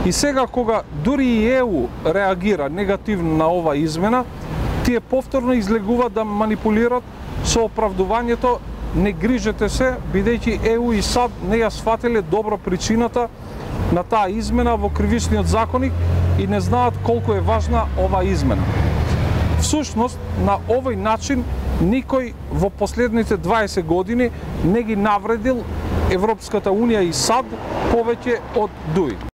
И сега кога дури и ЕУ реагира негативно на ова измена, тие повторно излегуваат да манипулираат со оправдувањето не грижете се, бидејќи ЕУ и САД не ја сфатиле добро причината на таа измена во кривичниот законник и не знаат колку е важна ова измена. Всушност, на овој начин никој во последните 20 години не ги навредил Европската Унија и САД повеќе од ДУИ.